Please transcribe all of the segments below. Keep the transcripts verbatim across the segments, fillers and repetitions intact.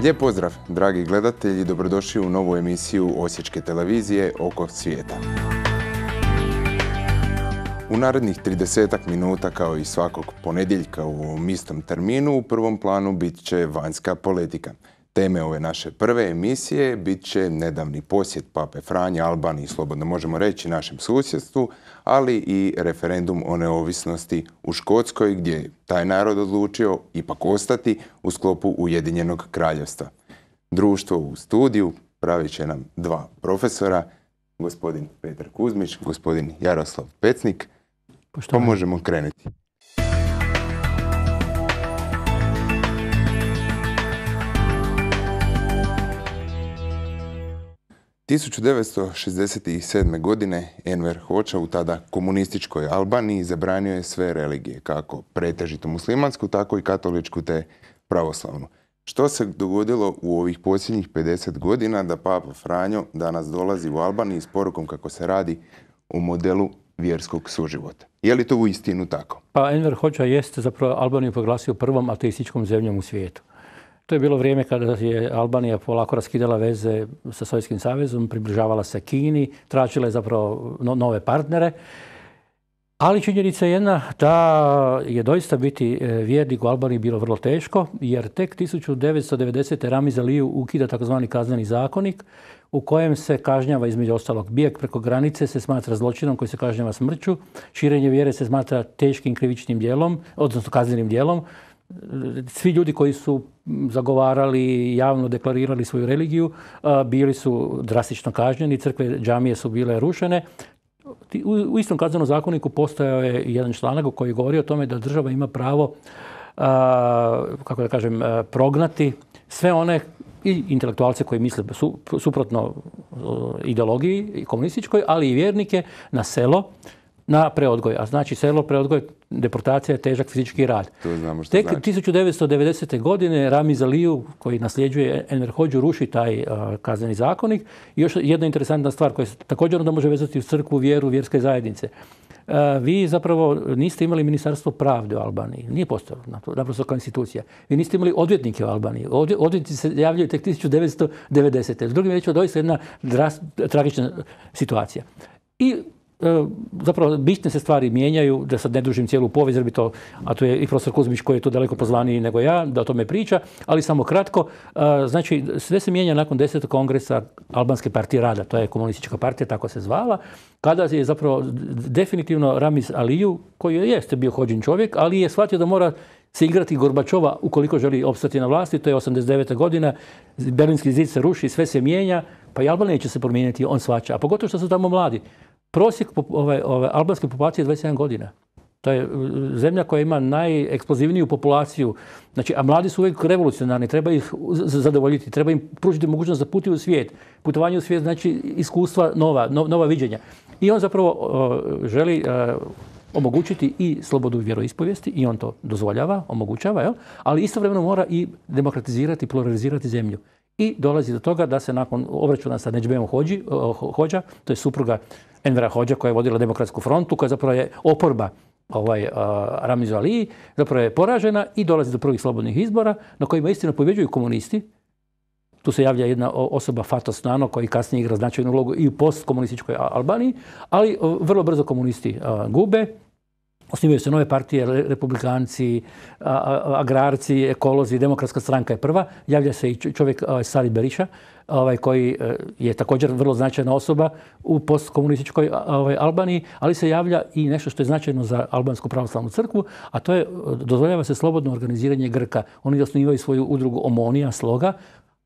Lijep pozdrav, dragi gledatelji, dobrodošli u novu emisiju Osječke televizije Oko svijeta. U narednih tridesetak minuta, kao i svakog ponedjeljka u ovom istom terminu, u prvom planu bit će vanjska politika. Teme ove naše prve emisije bit će nedavni posjet Pape Franje Albaniji, slobodno možemo reći našem susjedstvu, ali i referendum o neovisnosti u Škotskoj, gdje je taj narod odlučio ipak ostati u sklopu Ujedinjenog kraljevstva. Društvo u studiju pravit će nam dva profesora, gospodin Petar Kuzmić, gospodin Jaroslav Pecnik. Pa možemo krenuti. tisuću devetsto šezdeset sedme. godine Enver Hoxha u tada komunističkoj Albaniji zabranio je sve religije, kako pretežito muslimansku, tako i katoličku te pravoslavnu. Što se dogodilo u ovih posljednjih pedeset godina da Papa Franjo danas dolazi u Albaniji s porukom kako se radi o modelu vjerskog suživota? Je li to uistinu tako? Pa Enver Hoxha jeste zapravo Albaniju proglasio prvom ateističkom zemljom u svijetu. To je bilo vrijeme kada je Albanija polako raskidala veze sa Sovjetskim savezom, približavala se Kini, tražila je zapravo nove partnere. Ali činjenica je jedna da je doista biti vjernik u Albaniji bilo vrlo teško, jer tek tisuću devetsto devedesete. Ramiz Aliju ukida takozvani kazneni zakonik u kojem se kažnjava između ostalog bijeg preko granice se smatra zločinom koji se kažnjava smrću, širenje vjere se smatra teškim krivičnim djelom, odnosno kaznenim djelom. Svi ljudi koji su zagovarali, javno deklarirali svoju religiju, bili su drastično kažnjeni, crkve, džamije su bile rušene. U istom kaznenom zakoniku postojao je jedan članak koji govori o tome da država ima pravo, kako da kažem, prognati sve one i intelektualce koji misle suprotno ideologiji komunističkoj, ali i vjernike na selo, na preodgoj. A znači selo, preodgoj, deportacija je težak fizički rad. Tek znači. tisuću devetsto devedesete. godine Ramiz Aliju, koji nasljeđuje Enver Hoxhu, ruši taj uh, kazneni zakonik. I još jedna interesantna stvar koja se također onda može vezati u crkvu, vjeru, vjerske zajednice. Uh, vi zapravo niste imali ministarstvo pravde u Albaniji. Nije postojalo, naprosto kao institucija. Vi niste imali odvjetnike u Albaniji. Odvjetnici se javljaju tek tisuću devetsto devedesete. S drugim riječima, doista jedna dras, tragična situacija. I zapravo bitne se stvari mijenjaju, da sad ne dužim cijelu povijest, jer bi to, a to je i profesor Kuzmić koji je tu daleko pozvaniji nego ja, da o tome priča, ali samo kratko. Znači, sve se mijenja nakon desetog kongresa Albanske partije rada, to je komunistička partija, tako se zvala, kada je zapravo definitivno Ramiz Aliju, koji jeste bio Hoxhin čovjek, ali je shvatio da mora se igrati Gorbačova ukoliko želi opstati na vlasti, to je osamdeset deveta. godina, Berlinski zid se ruši, sve se mijenja, pa i Albanija će se promijeniti, on shvaća, a pogotovo što su tamo mladi. Prosjek ove, ove albanske populacije je dvadeset sedam godina. To je zemlja koja ima najeksplozivniju populaciju. Znači, a mladi su uvijek revolucionarni, treba ih zadovoljiti, treba im pružiti mogućnost da putuju u svijet. Putovanje u svijet znači iskustva nova, no, nova viđenja. I on zapravo uh, želi uh, omogućiti i slobodu vjeroispovijesti i on to dozvoljava, omogućava, jel? Ali istovremeno mora i demokratizirati, pluralizirati zemlju. I dolazi do toga da se nakon obračuna sa Nedžbejom Hoxha, to je supruga Envera Hoxha koja je vodila Demokratsku frontu, koja zapravo je oporba ovaj, uh, Ramizu Aliji, zapravo je poražena i dolazi do prvih slobodnih izbora na kojima istina pobjeđuju komunisti. Tu se javlja jedna osoba, Fatos Nano, koji kasnije igra značajnu ulogu i u postkomunističkoj Albaniji, ali uh, vrlo brzo komunisti uh, gube. Osnivaju se nove partije, republikanci, agrarci, ekolozi, demokratska stranka je prva. Javlja se i čovjek Sali Beriša, ovaj, koji je također vrlo značajna osoba u postkomunističkoj ovaj, Albaniji, ali se javlja i nešto što je značajno za albansku pravoslavnu crkvu, a to je, dozvoljava se slobodno organiziranje Grka. Oni osnivaju svoju udrugu Omonija, Sloga,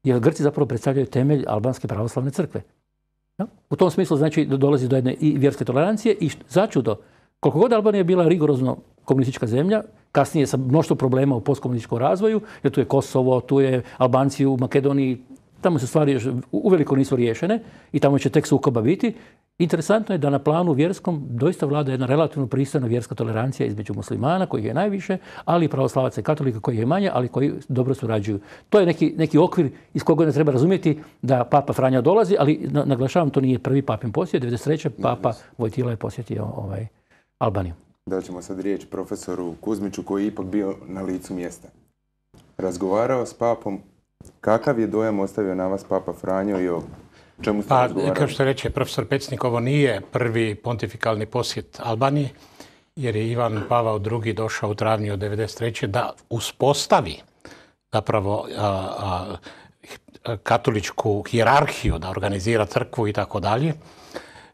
jer Grci zapravo predstavljaju temelj albanske pravoslavne crkve. Ja? U tom smislu znači dolazi do jedne i vjerske tolerancije i začudo, koliko god Albanija je bila rigorozno komunistička zemlja, kasnije sa mnoštvo problema u postkomunističkom razvoju, jer tu je Kosovo, tu je Albanci u Makedoniji, tamo se stvari još uveliko nisu riješene i tamo će tek sukoba biti. Interesantno je da na planu vjerskom doista vlada jedna relativno pristojna vjerska tolerancija između muslimana, kojih je najviše, ali i pravoslavaca i katolika kojih je manje, ali koji dobro surađuju. To je neki, neki okvir iz koga ne treba razumjeti da Papa Franjo dolazi, ali naglašavam, to nije prvi papin posjet. devedeset treće. Papa Vojtila je posjetio ovaj, Albaniju. Da ćemo sad riječ profesoru Kuzmiću koji je ipak bio na licu mjesta. Razgovarao s papom Kakav je dojam ostavio na vas Papa Franjo i o čemu ste Pa, razgovarali? kao što reče profesor Pecnik, ovo nije prvi pontifikalni posjet Albaniji, jer je Ivan Pavao drugi došao u travnju od devedeset treće da uspostavi zapravo a, a, katoličku hijerarhiju, da organizira crkvu i tako dalje.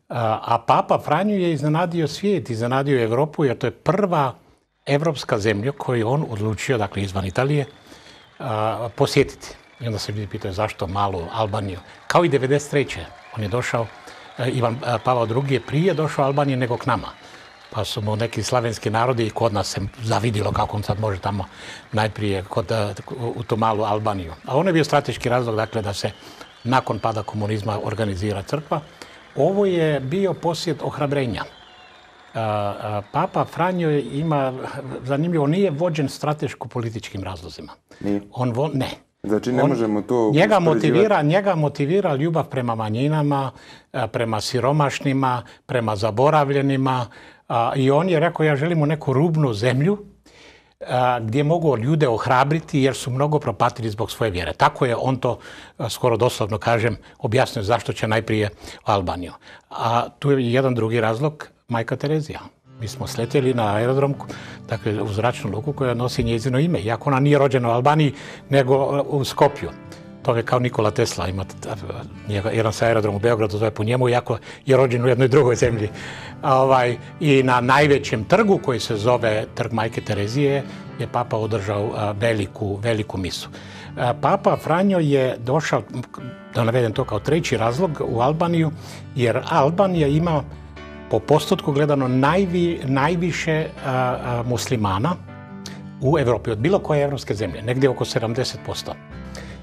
A Papa Franjo je iznenadio svijet, iznenadio Europu, jer to je prva evropska zemlja koju on odlučio, dakle izvan Italije, a, posjetiti. I onda se ljudi pitaju zašto malu Albaniju. Kao i devedeset treće on je došao, Ivan Pavao drugi je prije došao Albaniji nego k nama. Pa su mu neki slavenski narodi i kod nas se zavidilo kako on sad može tamo najprije kod, u tu malu Albaniju. A on je bio strateški razlog, dakle, da se nakon pada komunizma organizira crkva. Ovo je bio posjet ohrabrenja. Papa Franjo ima, zanimljivo, nije vođen strateško-političkim razlozima. Nije? On vo, ne. Znači ne on, možemo to njega motivira, njega motivira ljubav prema manjinama, prema siromašnima, prema zaboravljenima. A, I on je rekao, ja želim u neku rubnu zemlju a, gdje mogu ljude ohrabriti jer su mnogo propatili zbog svoje vjere. Tako je on to, a, skoro doslovno kažem, objasnio zašto će najprije u Albaniju. A tu je jedan drugi razlog, Majka Terezija. Mi smo sletjeli na aerodrom, dakle u zračnu luku koja nosi njezino ime, iako ona nije rođena u Albaniji, nego u Skopju. To je kao Nikola Tesla, ima jedan sa aerodrom u Beogradu, zove po njemu, iako je rođen u jednoj drugoj zemlji. Ovaj, I na najvećem trgu koji se zove Trg Majke Terezije je Papa održao a, veliku, veliku misu. A, Papa Franjo je došao, da navedem to kao treći razlog, u Albaniju, jer Albanija ima po postotku gledano najvi, najviše a, a, muslimana u Evropi, od bilo koje evropske zemlje, negdje oko sedamdeset posto.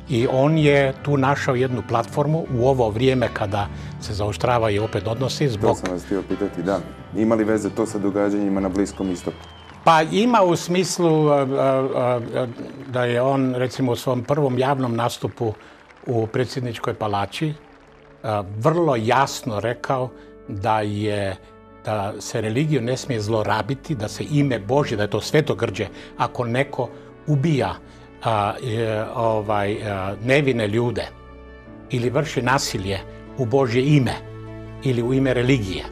I on je tu našao jednu platformu u ovo vrijeme kada se zaoštravaju opet odnosi zbog... To sam vas htio pitati, da. Ima li veze to sa događanjima na Bliskom istoku? Pa ima u smislu a, a, a, da je on, recimo, u svom prvom javnom nastupu u predsjedničkoj palači a, vrlo jasno rekao da je da se religiju ne smije zlorabiti, da se ime Božje, da je to svetogrđe, ako neko ubija a, je, ovaj, a, nevine ljude ili vrši nasilje u Božje ime ili u ime religije.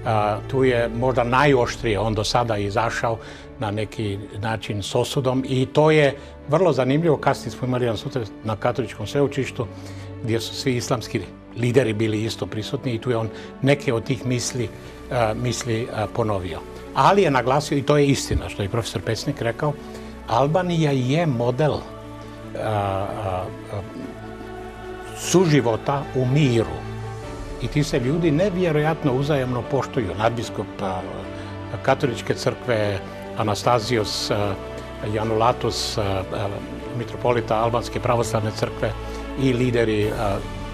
A, tu je možda najoštrije on do sada izašao na neki način s osudom i to je vrlo zanimljivo. Kasnije smo imali jedan susret na katoličkom sveučilištu gdje su svi islamski lideri bili isto prisutni i tu je on neke od tih misli, uh, misli uh, ponovio. Ali je naglasio, i to je istina što je profesor Pecnik rekao, Albanija je model uh, uh, suživota u miru. I ti se ljudi nevjerojatno uzajamno poštuju. Nadbiskup uh, katoličke crkve Anastazijos uh, Janulatus, uh, uh, mitropolita Albanske pravoslavne crkve i lideri uh,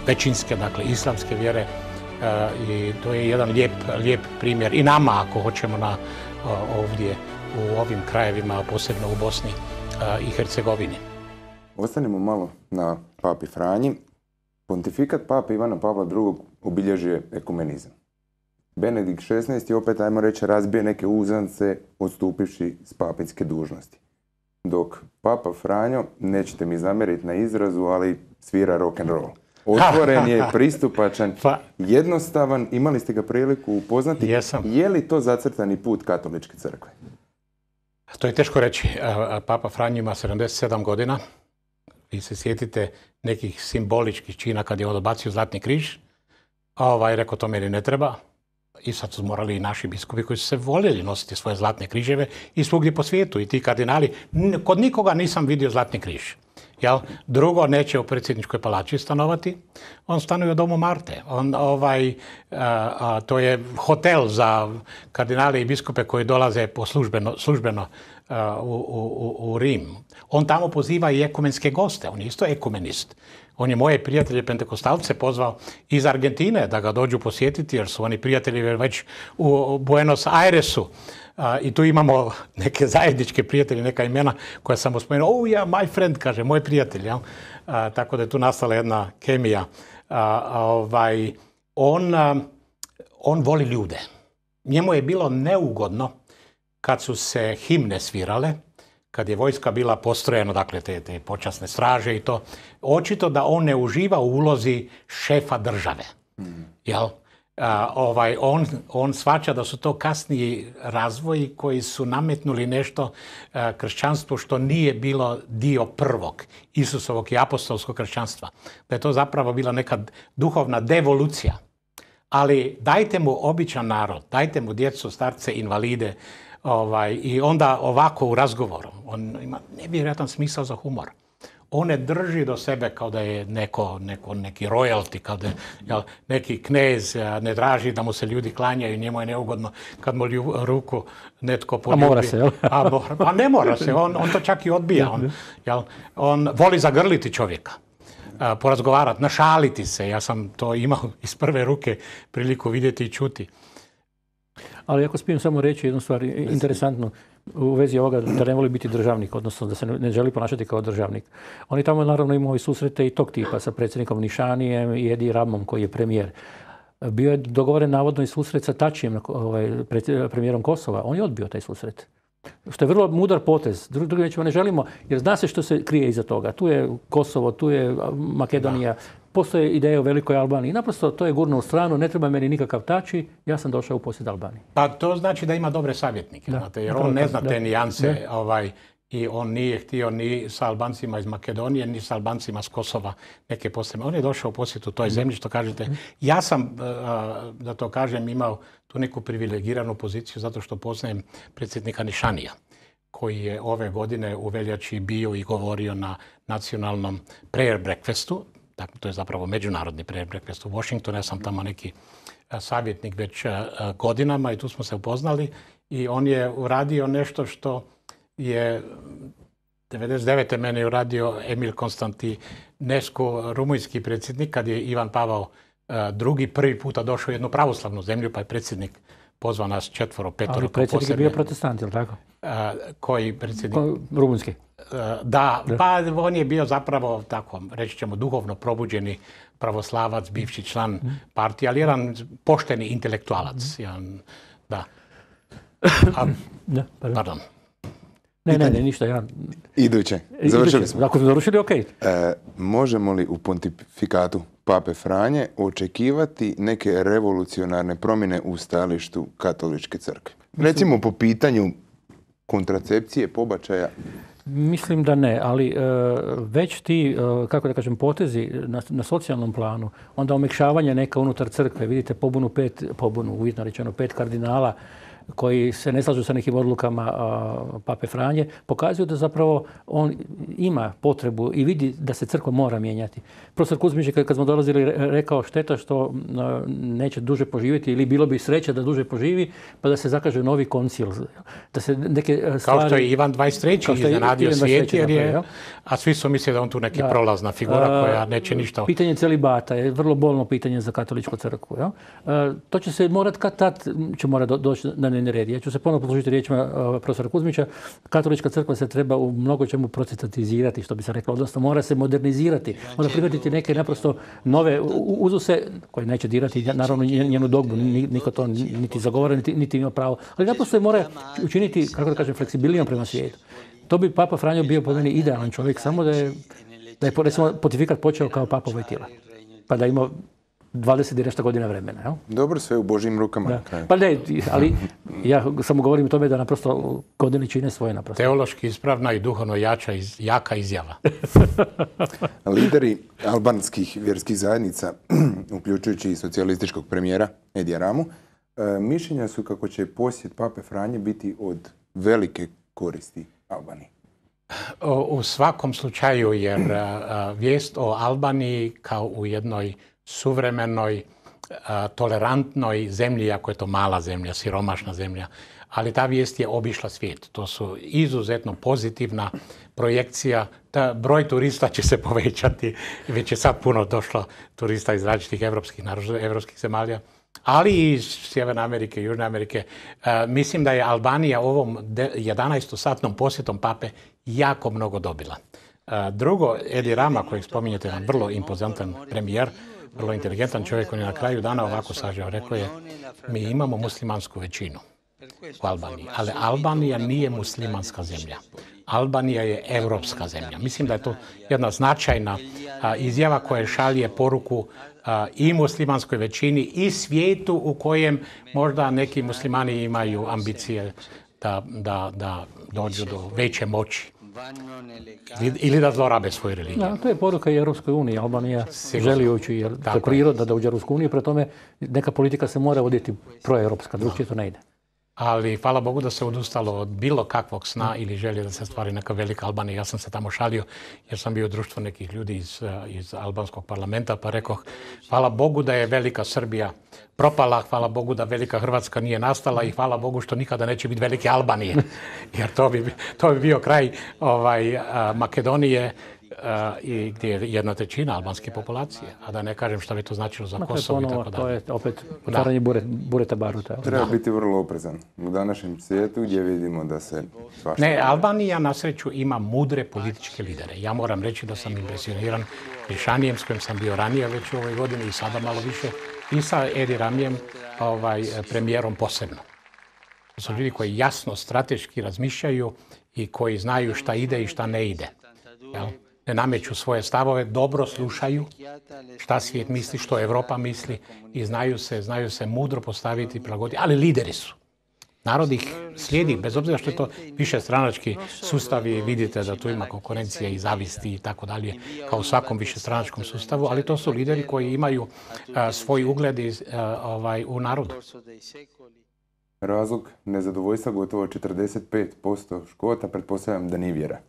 većinske, dakle, islamske vjere uh, i to je jedan lijep, lijep primjer i nama, ako hoćemo, na, uh, ovdje u ovim krajevima, posebno u Bosni uh, i Hercegovini. Ostanemo malo na Papi Franji. Pontifikat Pape Ivana Pavla drugog obilježio ekumenizam. Benedikt šesnaesti opet, ajmo reći, razbije neke uzance odstupivši s papinske dužnosti. Dok Papa Franjo, nećete mi zamjeriti na izrazu, ali svira rock and roll. Otvoren je, pristupačan, pa, jednostavan. Imali ste ga priliku upoznati. Jesam. Je li to zacrtani put katoličke crkve? To je teško reći. Papa Franjo ima sedamdeset sedam godina. Vi se sjetite nekih simboličkih čina kad je on odbacio Zlatni križ. A ovaj rekao, to meni ne treba. I sad su morali i naši biskupi koji su se voljeli nositi svoje zlatne križeve i svugdje po svijetu. I ti kardinali, kod nikoga nisam vidio Zlatni križ. Jel? Drugo, neće u predsjedničkoj palači stanovati. On stanuje u domu Marte. On, ovaj, a, a, to je hotel za kardinale i biskupe koji dolaze po službeno, službeno a, u, u, u Rim. On tamo poziva i ekumenske goste. On je isto ekumenist. On je moje prijatelje pentekostalce pozvao iz Argentine da ga dođu posjetiti jer su oni prijatelji već u Buenos Airesu. Uh, I tu imamo neke zajedničke prijatelje, neka imena koja sam spomenuo. Oh ja, yeah, my friend, kaže, moj prijatelj. Ja? Uh, tako da je tu nastala jedna kemija. Uh, ovaj, on, uh, on voli ljude. Njemu je bilo neugodno kad su se himne svirale, kad je vojska bila postrojena, dakle te, te počasne straže i to, očito da on ne uživa u ulozi šefa države. Mm. Jel? A, ovaj, on, on shvaća da su to kasniji razvoji koji su nametnuli nešto a, kršćanstvu što nije bilo dio prvog Isusovog i apostolskog kršćanstva. Da je to zapravo bila neka duhovna devolucija. Ali dajte mu običan narod, dajte mu djecu, starce, invalide, ovaj, i onda ovako u razgovoru. On ima nevjerojatan smisao za humor. On ne drži do sebe kao da je neko, neko, neki royalty, kao da je jel, neki knez, ne traži da mu se ljudi klanjaju, njemu je neugodno kad mu lju, ruku netko poljubi. A mora se, jel? A, mora, pa ne mora se, on, on to čak i odbija. On, jel, on voli zagrliti čovjeka. Porazgovarati, našaliti se. Ja sam to imao iz prve ruke priliku vidjeti i čuti. Ali ako smijem samo reći jednu stvar interesantnu u vezi ovoga da ne voli biti državnik, odnosno da se ne želi ponašati kao državnik. Oni tamo naravno imaju susrete i tog tipa sa predsjednikom Nišanijem i Edi Ramom koji je premijer. Bio je dogovoren navodno i susret sa Tačijem, ovaj, premijerom Kosova. On je odbio taj susret. Što je vrlo mudar potez. Drugim riječima ne želimo, jer zna se što se krije iza toga. Tu je Kosovo, tu je Makedonija, da. Postoje ideje o velikoj Albaniji. Naprosto to je gurno u stranu, ne treba meni nikakav Tači, ja sam došao u posjet Albaniji. Pa to znači da ima dobre savjetnike, da. Znate, jer on ne zna te nijanse ovaj, i on nije htio ni sa Albancima iz Makedonije, ni sa Albancima s Kosova neke posebne. On je došao u posjetu toj zemlji, što kažete. Ja sam, da to kažem, imao tu neku privilegiranu poziciju zato što poznajem predsjednika Nišanija, koji je ove godine u veljači bio i govorio na nacionalnom prayer breakfastu. Dakle, to je zapravo međunarodni prayer breakfast u Washingtonu. Ja sam tamo neki savjetnik već godinama i tu smo se upoznali. I on je uradio nešto što je devedeset devete mene je uradio Emil Konstantinescu, rumunjski predsjednik, kad je Ivan Pavao drugi prvi puta došao u jednu pravoslavnu zemlju, pa je predsjednik pozvao nas četvoro, petoro. Ali predsjednik je bio protestant, je li tako? A, koji predsjednik? Ko, rumunski. A, da, da, pa on je bio zapravo, tako reći ćemo, duhovno probuđeni pravoslavac, bivši član mm. partije, ali jedan pošteni intelektualac. Mm. Jedan, da. A, da, pardon. pardon. Ne, ne, ne, ništa. Ja... Iduće. Završili smo. Ako smo završili, okej. Okay. E, možemo li u pontifikatu Pape Franje očekivati neke revolucionarne promjene u stajalištu katoličke crkve? Recimo po pitanju kontracepcije, pobačaja. Mislim da ne, ali e, već ti, e, kako da kažem, potezi na, na socijalnom planu, onda omekšavanje neka unutar crkve, vidite pobunu pet, pobunu, uvjetno rečeno, pet kardinala koji se ne slažu sa nekim odlukama a, Pape Franje, pokazuju da zapravo on ima potrebu i vidi da se crkva mora mijenjati. Profesor Kuzmić je kad smo dolazili rekao šteta što a, neće duže poživjeti ili bilo bi sreća da duže poživi pa da se zakaže novi koncil. Da se neke stvari... Kao što je Ivan dvadeset treći iznenadio svijet, jer je, a svi su mislili da on tu neki da. prolazna figura koja neće ništa... Pitanje celibata je vrlo bolno pitanje za katoličku crkvu. Ja? A, to će se morat kad tad će mora do, doći na red. Ja ću se ponovno poslužiti riječima uh, profesora Kuzmića. Katolička crkva se treba u mnogo čemu protestatizirati, što bi se reklo, odnosno mora se modernizirati. Mora prihvatiti neke naprosto nove uzuse koje neće dirati naravno njenu dogmu, niko to niti zagovara, niti, niti ima pravo. Ali naprosto je mora učiniti, kako da kažem, fleksibilnijom prema svijetu. To bi Papa Franjo bio po meni idealan čovjek, samo da je, da je recimo, pontifikat počeo kao Papa Vojtila. Pa da ima dvadeset i nešto godina vremena. Jel? Dobro, sve u Božjim rukama. Da. Pa ne, ali ja samo govorim o tome da naprosto godine čine svoje naprosto. Teološki ispravna i duhovno jača, iz, jaka izjava. Lideri albanskih vjerskih zajednica, uključujući i socijalističkog premijera Edija Ramu, mišljenja su kako će posjet Pape Franje biti od velike koristi Albaniji. U svakom slučaju, jer vijest o Albaniji kao u jednoj suvremenoj, tolerantnoj zemlji, ako je to mala zemlja, siromašna zemlja, ali ta vijest je obišla svijet. To su izuzetno pozitivna projekcija. Ta broj turista će se povećati. Već je sad puno došlo turista iz različitih evropskih, evropskih zemalja, ali i iz Sjeverne Amerike, Južne Amerike. E, mislim da je Albanija ovom jedanaestosatnom posjetom Pape jako mnogo dobila. E, drugo, Edi Rama, kojeg spominjete, jedan vrlo impozantan premijer, vrlo inteligentan čovjek, on je na kraju dana ovako sažao. Rekao je, mi imamo muslimansku većinu u Albaniji, ali Albanija nije muslimanska zemlja. Albanija je europska zemlja. Mislim da je to jedna značajna a, izjava koja šalje poruku a, i muslimanskoj većini i svijetu u kojem možda neki muslimani imaju ambicije da, da, da dođu do veće moći ili da zlorabe svoju religiju. Da, to je poruka i Europskoj uniji. Albanija želi ući, jer to je priroda da uđe u Europsku uniju, pre tome neka politika se mora voditi proeuropska, drugčije to ne ide. Ali hvala Bogu da se odustalo od bilo kakvog sna ili želje da se stvari neka velika Albanija. Ja sam se tamo šalio jer sam bio u društvu nekih ljudi iz, iz albanskog parlamenta, pa rekoh hvala Bogu da je velika Srbija propala, hvala Bogu da velika Hrvatska nije nastala i hvala Bogu što nikada neće biti velike Albanije. Jer to bi, to bi bio kraj ovaj, Makedonije, Uh, i gdje je jedna trećina albanske populacije, a da ne kažem šta bi to značilo za Kosovo i tako dalje. To je opet otvaranje bure, bureta baruta. Treba biti vrlo oprezan u današnjem svijetu gdje vidimo da se svašta... Ne, Albanija na sreću ima mudre političke lidere. Ja moram reći da sam impresioniran Prišanijem s kojim sam bio ranije već u ovoj godini i sada malo više i sa Edi Ramijem, ovaj, premijerom posebno. To su ljudi koji jasno strateški razmišljaju i koji znaju šta ide i šta ne ide. Jel? Ne nameću svoje stavove, dobro slušaju šta svijet misli, što Europa misli i znaju se, znaju se mudro postaviti i prilagoditi, ali lideri su. Narod ih slijedi, bez obzira što je to više stranački sustav i vidite da tu ima konkurencija i zavisti i tako dalje, kao u svakom višestranačkom sustavu, ali to su lideri koji imaju a, svoj ugled iz, a, ovaj, u narodu. Razlog nezadovoljstva gotovo četrdeset pet posto Škota, pretpostavljam da nije vjera.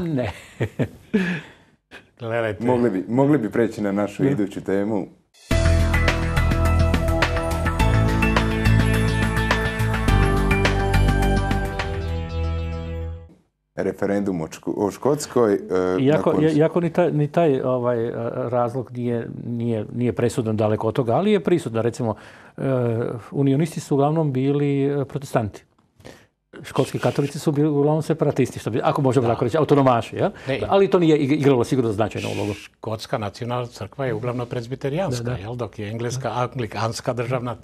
Ne. Gledajte. Mogli bi, mogli bi preći na našu ne. iduću temu. Referendum o, Ško- o Škotskoj. Uh, Iako, nakon... iako ni taj, ni taj ovaj, razlog nije, nije, nije presudan daleko od toga, ali je prisudan. Recimo, uh, unionisti su uglavnom bili protestanti. Škotski katolici su bili uglavnom separatisti, što bi, ako možemo tako reći, autonomaši. Ja? Ali to nije igralo sigurno značajnu ulogu. Škotska nacionalna crkva je uglavnom prezbiterijanska, da, da. Jel? Dok je engleska anglikanska državna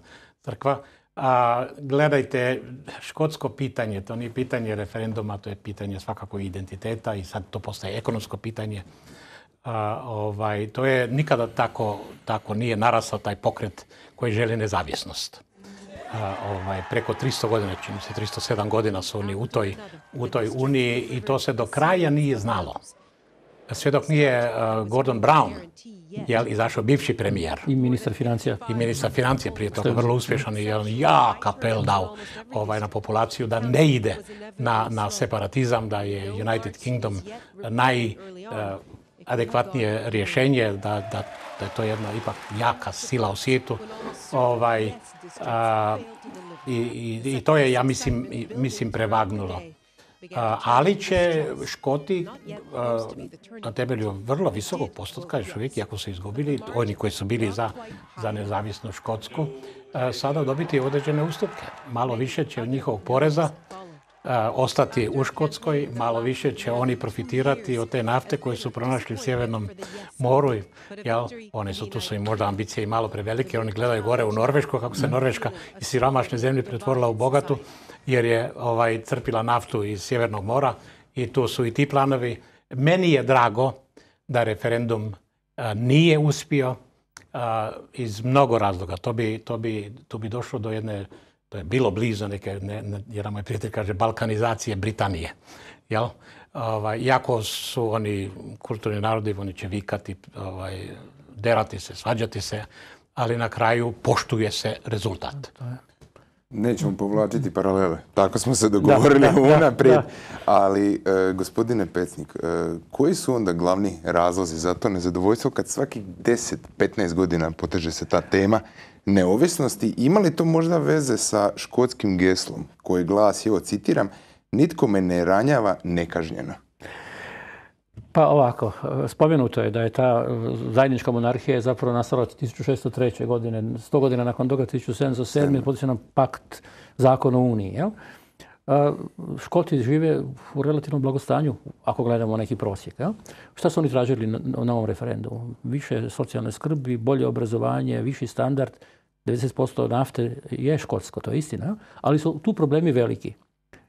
crkva. A, gledajte, škotsko pitanje, to nije pitanje referenduma, to je pitanje svakako identiteta i sad to postaje ekonomsko pitanje. A, ovaj, to je nikada tako, tako nije narasao taj pokret koji želi nezavisnost. A, ovaj, preko tristo godina, čini se tristo sedam godina su oni u toj, u toj uniji i to se do kraja nije znalo. Sve dok nije uh, Gordon Brown, jel, izašao bivši premijer. I ministar financija. I ministar financija prije toga, vrlo uspješan i on jak apel dao ovaj, na populaciju da ne ide na, na separatizam, da je United Kingdom najadekvatnije uh, rješenje, da, da, da je to jedna ipak jaka sila u svijetu. Ovaj, a, i, i, I to je, ja mislim, mislim prevagnulo. A, ali će Škoti a, na temelju vrlo visokog postotka, još uvijek, iako su izgubili, oni koji su bili za, za nezavisnu Škotsku, a, sada dobiti određene ustupke. Malo više će od njihovog poreza a, ostati u Škotskoj, malo više će oni profitirati od te nafte koje su pronašli u Sjevernom moru. Jel? Oni su, tu su im možda ambicije i malo prevelike, oni gledaju gore u Norvešku, kako se Norveška iz siromašne zemlje pretvorila u bogatu, jer je ovaj, crpila naftu iz Sjevernog mora i tu su i ti planovi. Meni je drago da referendum a, nije uspio a, iz mnogo razloga. To bi, to bi, tu bi došlo do jedne, to je bilo blizu neke, ne, ne, jedan moj prijatelj kaže, balkanizacije Britanije. Jel? Ovaj, iako su oni kulturni narodi, oni će vikati, ovaj, derati se, svađati se, ali na kraju poštuje se rezultat. Nećemo povlačiti paralele. Tako smo se dogovorili unaprijed. Ali, e, gospodine Pecnik, e, koji su onda glavni razlozi za to nezadovoljstvo kad svaki deset do petnaest godina poteže se ta tema neovisnosti? Ima li to možda veze sa škotskim geslom koji glasi, evo citiram, nitko me ne ranjava nekažnjeno? Pa ovako, spomenuto je da je ta zajednička monarhija zapravo nastala tisuću šesto treće. godine, sto godina nakon toga tisuću sedamsto sedme. potpisan pakt Zakon o Uniji. Jel? Škoti žive u relativnom blagostanju, ako gledamo neki prosjek. Jel? Šta su oni tražili na, na ovom referendumu? Više socijalne skrbi, bolje obrazovanje, viši standard. devedeset posto nafte je škotsko, to je istina. Jel? Ali su tu problemi veliki.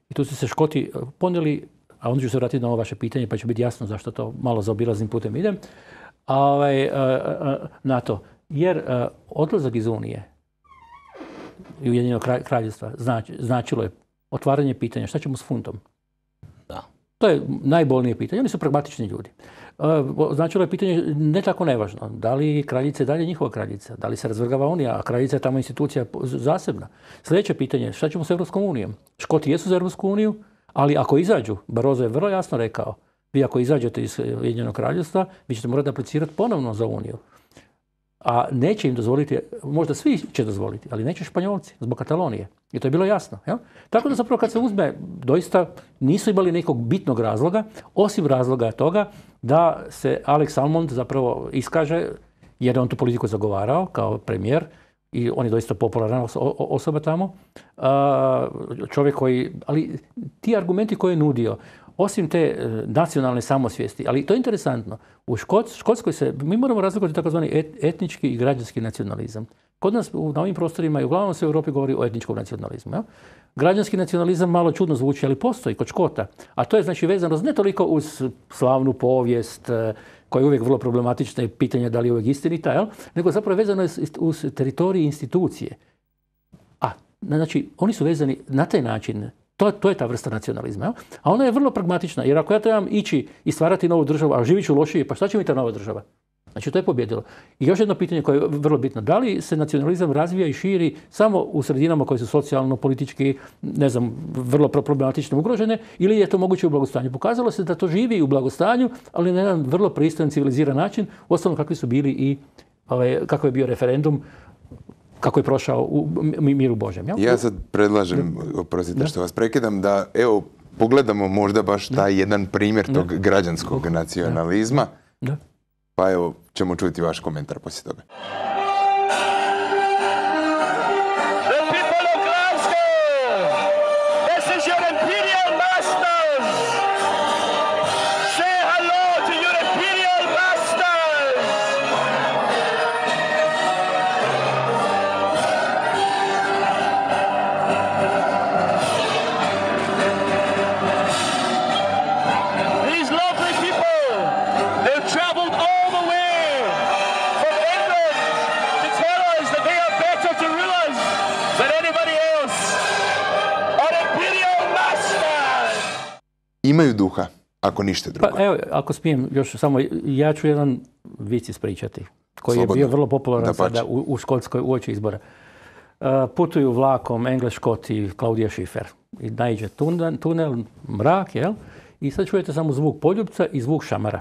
I tu su se Škoti ponijeli, a onda ću se vratiti na ovo vaše pitanje, pa će biti jasno zašto to malo zaobilaznim putem idem, a, ovaj, na to. Jer odlazak iz Unije i Ujedinjenog kraljevstva znači, značilo je otvaranje pitanja šta ćemo s funtom. Da. To je najbolnije pitanje. Oni su pragmatični ljudi. Značilo je pitanje ne tako nevažno. Da li kraljica je dalje njihova kraljica? Da li se razvrgava Unija, a kraljica je tamo institucija zasebna? Sljedeće pitanje je šta ćemo s Europskom unijom? Škoti jesu za Europsku uniju, ali ako izađu, Barroso je vrlo jasno rekao, vi ako izađete iz Ujedinjenog kraljevstva, vi ćete morati aplicirati ponovno za Uniju. A neće im dozvoliti, možda svi će dozvoliti, ali neće Španjolci zbog Katalonije. I to je bilo jasno. Jel? Tako da zapravo kad se uzme, doista nisu imali nekog bitnog razloga, osim razloga toga da se Alex Salmond zapravo iskaže, jer je on tu politiku zagovarao kao premijer i on je doista popularna osoba tamo. Čovjek koji, ali ti argumenti koje je nudio, osim te nacionalne samosvijesti, ali to je interesantno, u Škotskoj se, mi moramo razlikovati takozvani etnički i građanski nacionalizam. Kod nas na ovim prostorima i uglavnom se u Europi govori o etničkom nacionalizmu. Ja? Građanski nacionalizam malo čudno zvuči, ali postoji kod Škota. A to je znači vezano ne toliko uz slavnu povijest, koja je uvijek vrlo problematična i pitanja da li je uvijek istinita, jel? Nego zapravo je vezano uz teritorij i institucije. A, znači, oni su vezani na taj način. To, to je ta vrsta nacionalizma. Ja? A ona je vrlo pragmatična, jer ako ja trebam ići i stvarati novu državu, a živit ću lošije, pa šta će mi ta nova država? Znači, to je pobjedilo. I još jedno pitanje koje je vrlo bitno. Da li se nacionalizam razvija i širi samo u sredinama koje su socijalno, politički, ne znam, vrlo problematično ugrožene, ili je to moguće u blagostanju? Pokazalo se da to živi u blagostanju, ali na jedan vrlo pristojan, civiliziran način, uostalom kakvi su bili i ovaj, kako je bio referendum, kako je prošao u miru Božjem. Ja, ja sad predlažem, oprostite što vas prekidam, da evo pogledamo možda baš taj jedan primjer tog građanskog nacionalizma. Da. Pa evo, ćemo čuti vaš komentar poslije toga. Imaju duha, ako ništa drugo. Pa evo, ako smijem, još samo, ja ću jedan vic ispričati, koji Slobodno. je bio vrlo popularan sada u, u Škotskoj uoči izbora. Uh, putuju vlakom Engles, Škot i Klaudija Schiffer. I naiđe tunel, tunel, mrak, jel? I sad čujete samo zvuk poljupca i zvuk šamara.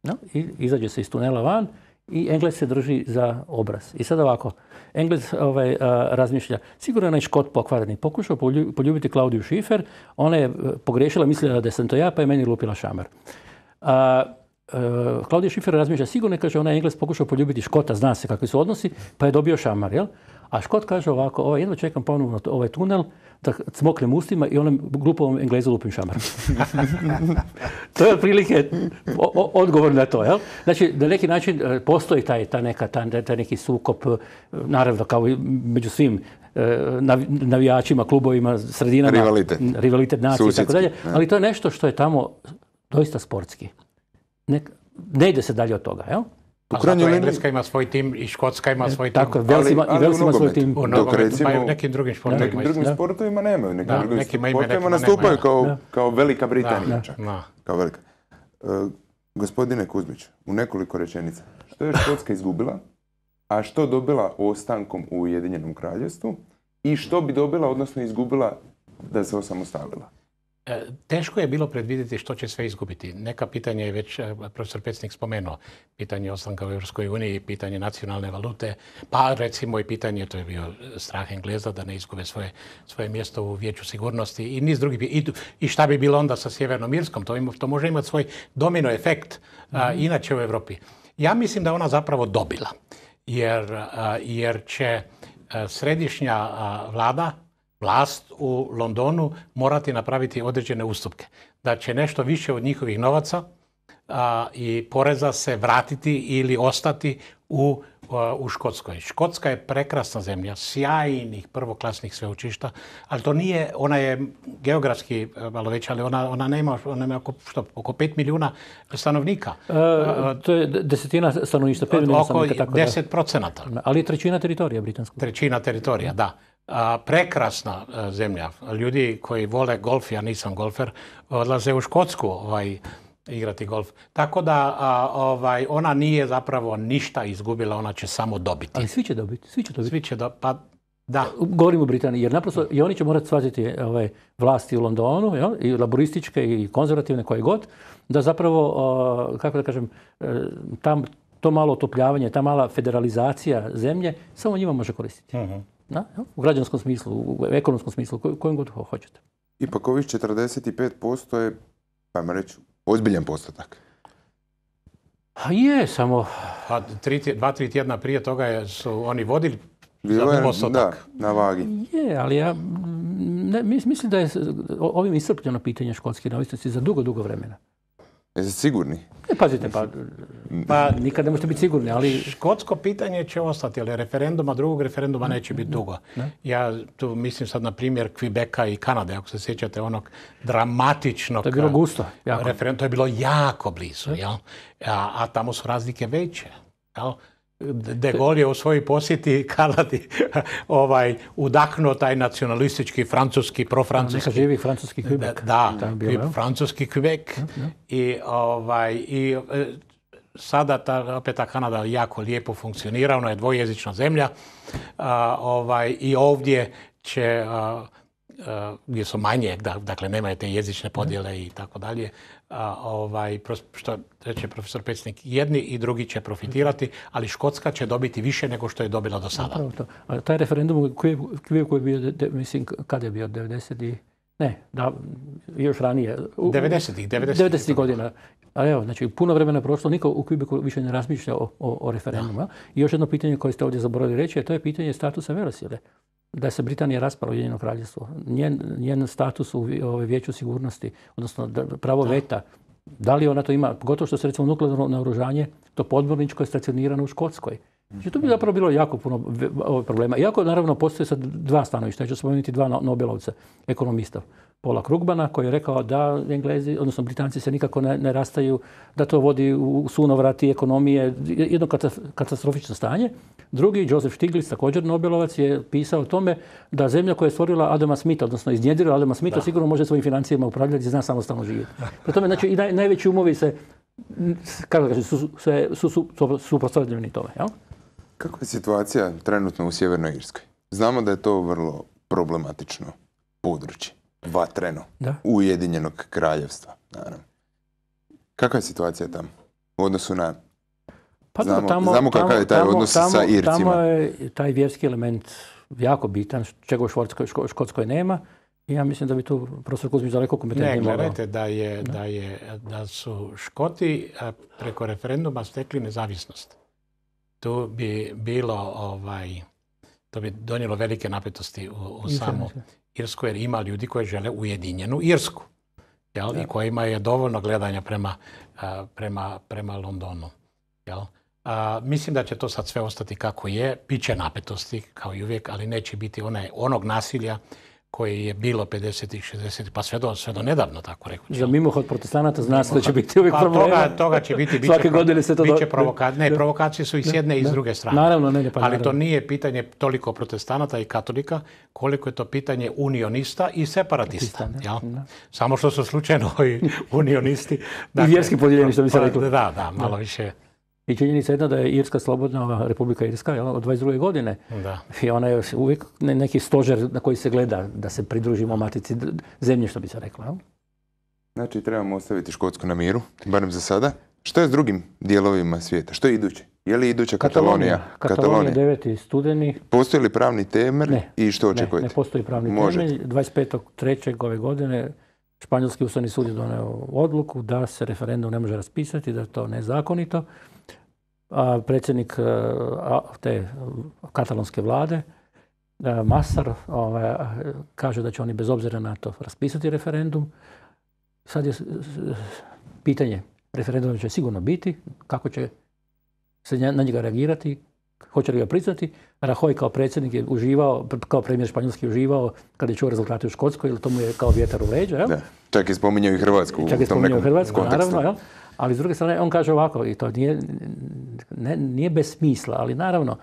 No? I izađe se iz tunela van i Engles se drži za obraz. I sad ovako, Engles ovaj, uh, razmišlja, sigurno je Škot pokvareni. Pokušao poljubiti Klaudiju Schiffer, ona je pogriješila, mislila da sam to ja, pa je meni lupila šamar. Uh, uh, Klaudija Schiffer razmišlja, sigurno je, kaže, ona je Engles pokušao poljubiti Škota, zna se kakvi su odnosi, pa je dobio šamar, jel? A Škot kaže ovako, ovaj, jedno čekam ponovno ovaj tunel, da cmoknem ustima i onom glupovom Englezu lupim šamar. To je otprilike odgovor na to, jel? Znači, na neki način postoji taj, ta neka, taj, taj neki sukop, naravno kao i među svim navijačima, klubovima, sredinama, rivalitet, rivalitet nacije i tako dalje, ali to je nešto što je tamo doista sportski. Ne, ne ide se dalje od toga, jel? A zato Engleska ima svoj tim i Škotska ima svoj tim. Tako, Vels ima, i Vels ima svoj tim. U nogometu, pa i u nekim drugim sportovima. Nekim drugim da. sportovima nemaju. Nekim da, drugim nekima sportovima nastupaju nema, kao, da. kao Velika Britanija. Da, da. Kao velika. Uh, gospodine Kuzmić, u nekoliko rečenica. Što je Škotska izgubila, a što dobila ostankom u Ujedinjenom kraljevstvu i što bi dobila, odnosno izgubila da se osamostalila? Teško je bilo predvidjeti što će sve izgubiti. Neka pitanja je već profesor Pecnik spomenuo. Pitanje ostanka u Europskoj uniji, pitanje nacionalne valute, pa recimo i pitanje, to je bio strah Engleza da ne izgube svoje, svoje mjesto u Vijeću sigurnosti i niz drugih. I, i šta bi bilo onda sa Sjevernom Irskom? To, ima, to može imati svoj domino efekt mm-hmm. a, inače u Europi. Ja mislim da ona zapravo dobila, jer, a, jer će a, središnja a, vlada, vlast u Londonu morati napraviti određene ustupke. Da će nešto više od njihovih novaca a, i poreza se vratiti ili ostati u u Škotskoj. Škotska je prekrasna zemlja, sjajnih prvoklasnih sveučišta, ali to nije, ona je geografski malo veća, ali ona, ona nema, ona nema oko, što, oko pet milijuna stanovnika. E, to je desetina stanovništva, pet milijuna stanovnika. Oko deset procenata. Ali je trećina teritorija britanskog. Trećina teritorija, da. A, prekrasna a, zemlja. Ljudi koji vole golf, ja nisam golfer, odlaze u Škotsku ovaj, igrati golf. Tako da a, ovaj, ona nije zapravo ništa izgubila, ona će samo dobiti. Ali svi će dobiti, svi će dobiti. Svi će do, pa da. Govorim o Britaniji, jer naprosto i oni će morati shvatiti ove vlasti u Londonu, jel? I laborističke i konzervativne koje god, da zapravo, o, kako da kažem, tam to malo otopljavanje, ta mala federalizacija zemlje samo njima može koristiti. Uh-huh. Da? U građanskom smislu, u ekonomskom smislu, kojim god hoćete. Ipak ovih četrdeset pet posto je, ajmo reći, ozbiljan postotak. A je, samo... A tri, dva, tri tjedna prije toga je, su oni vodili Bilo za je, postotak. Da, na vagi. Je, ali ja ne, mislim da je ovim iscrpljeno pitanje škotske neovisnosti za dugo, dugo vremena. Jeste sigurni? Ne, pazite, pa, pa nikad ne možete biti sigurni, ali... Škotsko pitanje će ostati, ali referenduma, drugog referenduma neće biti dugo. Ne? Ja tu mislim sad na primjer Quebeca i Kanade, ako se sjećate onog dramatičnog... To je bilo gusto. Referendum, to je bilo jako blizu, jel? A, a tamo su razlike veće, jel? De Gaulle je u svojoj posjeti Kanadi ovaj, udahnuo taj nacionalistički, francuski, profrancuski... Neka živi francuski Quebec. Da, da francuski Quebec. Ja, ja. I, ovaj, i sada ta, opet ta Kanada jako lijepo funkcionira, ona je dvojezična zemlja. A, ovaj, i ovdje će... A, gdje su manje, dakle nemaju te jezične podjele i tako dalje, ovaj, što reče profesor Pecnik, jedni i drugi će profitirati, ali Škotska će dobiti više nego što je dobila do sada. To. A taj referendum koji, koji je bio, mislim, kada je bio, devedeset i... Ne, da, još ranije. devedesetih. devedesetih godina. A evo, znači, puno vremena prošlo, niko u Quebecu više ne razmišlja o, o, o referendumu. Da. I još jedno pitanje koje ste ovdje zaboravili reći, a to je pitanje statusa velesile. Da se Britanija raspala, Ujedinjeno kraljevstvo. Njen, njen status u Vijeću sigurnosti, odnosno pravo da. veta, da li ona to ima, pogotovo što se recimo nuklearno naoružanje, to podmorničko je stacionirano u Škotskoj. Znači, to bi zapravo bilo jako puno problema. Iako, naravno, postoje sad dva stanovišta. Ja ću spomenuti dva Nobelovca, ekonomista. Paula Krugmana, koji je rekao da Englezi, odnosno Britanci se nikako ne, ne rastaju, da to vodi u sunovrati ekonomije, jedno katastrofično stanje. Drugi, Joseph Stiglitz, također Nobelovac, je pisao o tome da zemlja koja je stvorila Adama Smitha, odnosno iznjedrila Adama Smitha, sigurno može svojim financijama upravljati i zna samostalno živjeti. Pri tome, znači, i naj, najveći umovi se, kako kažem, su, su, su, su suprotstavljeni tome. Jel? Kako je situacija trenutno u Sjevernoj Irskoj? Znamo da je to vrlo problematično područje, vatreno, da. Ujedinjenog kraljevstva. Naravno. Kakva je situacija tamo u odnosu na... Pa znamo, tamo, znamo kakav tamo, je taj tamo, odnos tamo, sa Ircima. Tamo je taj vjerski element jako bitan, čega u Škotskoj, Škotskoj nema. I ja mislim da bi tu profesor Kuzmić daleko kompetentniji mogao. Ne, gledajte da, je, da, je, da su Škoti preko referenduma stekli nezavisnost. Tu bi bilo, ovaj, to bi donijelo velike napetosti u, u samu Irsku, jer ima ljudi koji žele ujedinjenu Irsku. Jel? I kojima je dovoljno gledanja prema, prema, prema Londonu. Jel? A, mislim da će to sad sve ostati kako je. Biće napetosti, kao i uvijek, ali neće biti onaj, onog nasilja koje je bilo pedesetih, šezdesetih, pa sve do, sve do nedavno, tako reći. Za mimohod protestanata zna se da će biti uvijek pa, problema. Toga, toga će biti. Biće Svake godine se to... Biće provokacije. Ne, provokacije su i s jedne i s druge strane. Naravno, ne, ne, pa ali naravno. to nije pitanje toliko protestanata i katolika, koliko je to pitanje unionista i separatista. Ja? Samo što su slučajno i unionisti. Dakle, i vjerski podijeljeni, što bi se reklo. Da, da, malo da. više... I činjenica jedna da je Irska slobodna, Republika Irska, jel, od dvadeset druge godine. Da. I ona je uvijek neki stožer na koji se gleda da se pridružimo matici zemlje, što bi se reklo. Jel? Znači, trebamo ostaviti Škotsku na miru, barem za sada. Što je s drugim dijelovima svijeta? Što je iduće? Je li iduća Katalonija? Katalonija, deveti studeni. Postoji li pravni temelj ne, i što očekujete? Ne, ne postoji pravni Možete. temelj. dvadeset petog trećeg ove godine Španjolski ustavni sud je doneo odluku da se referendum ne može raspisati, da je to nezakonito. A predsjednik a, te katalonske vlade, a, Masar, ovaj, kaže da će oni bez obzira na to raspisati referendum. Sad je pitanje, referendum će sigurno biti, kako će se na njega reagirati, Hoće li ga priznati? Rajoy kao predsjednik je uživao, kao premijer Španjolski je uživao kada je čuo rezultate u Škotskoj, jer to mu je kao vjetar u leđa. Jel? Da. Čak je spominjao i Hrvatsku Čak je u tom spominjao nekom Hrvatsku, kontekstu. naravno. Jel? Ali s druge strane, on kaže ovako, i to nije, ne, nije bez smisla, ali naravno,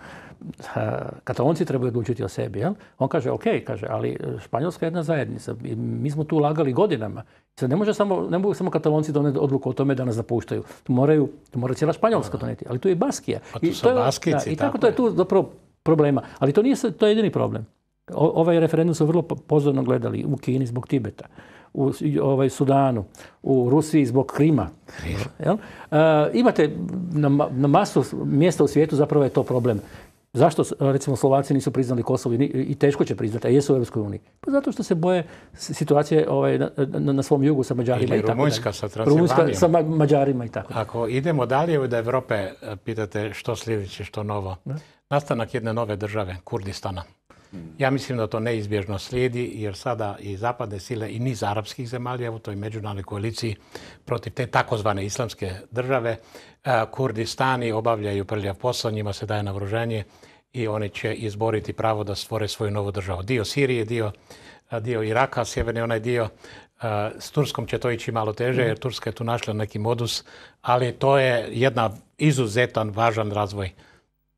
Katalonci trebaju odlučiti o sebi. Jel? On kaže, ok, kaže, ali Španjolska je jedna zajednica. Mi smo tu lagali godinama. Sad ne, može samo, ne mogu samo Katalonci doneti odluku o tome da nas napuštaju. Tu, moraju, tu mora cijela Španjolska doneti. Ali tu je Baskija. A tu I, su to je, Baskici, da, i tako, tako to je je. tu zapravo problema. Ali to nije to je jedini problem. O, ovaj referendum su vrlo pozorno gledali u Kini zbog Tibeta, u ovaj, Sudanu, u Rusiji zbog Krima. Jel? E, imate na, na masu mjesta u svijetu zapravo je to problem. Zašto, recimo, Slovaci nisu priznali Kosovo i teško će priznati, a jesu u Europskoj uniji? Pa zato što se boje situacije ovaj, na, na, na svom jugu sa Mađarima. Ili i tako Rumunjska dalje. sa Transilvanijom. Rumunjska sa ma Mađarima i tako dalje. Ako idemo dalje od Europe, pitate što sljedeće, što novo. Ne? Nastanak jedne nove države, Kurdistana. Ja mislim da to neizbježno slijedi, jer sada i zapadne sile i niz arapskih zemalja u toj međunarodnoj koaliciji protiv te takozvane islamske države, Kurdistani obavljaju prljav posao, njima se daje naoružanje i oni će izboriti pravo da stvore svoju novu državu. Dio Sirije, dio, dio Iraka, sjeverni onaj dio. S Turskom će to ići malo teže, jer Turska je tu našla neki modus, ali to je jedna izuzetan, važan razvoj.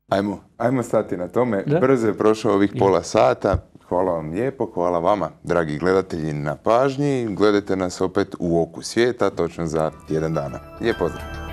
Ajmo, ajmo stati na tome. Da? Brzo je prošao ovih pola sata. Hvala vam lijepo, hvala vama, dragi gledatelji, na pažnji. Gledajte nas opet u Oku svijeta, točno za tjedan dana. Lijep pozdrav!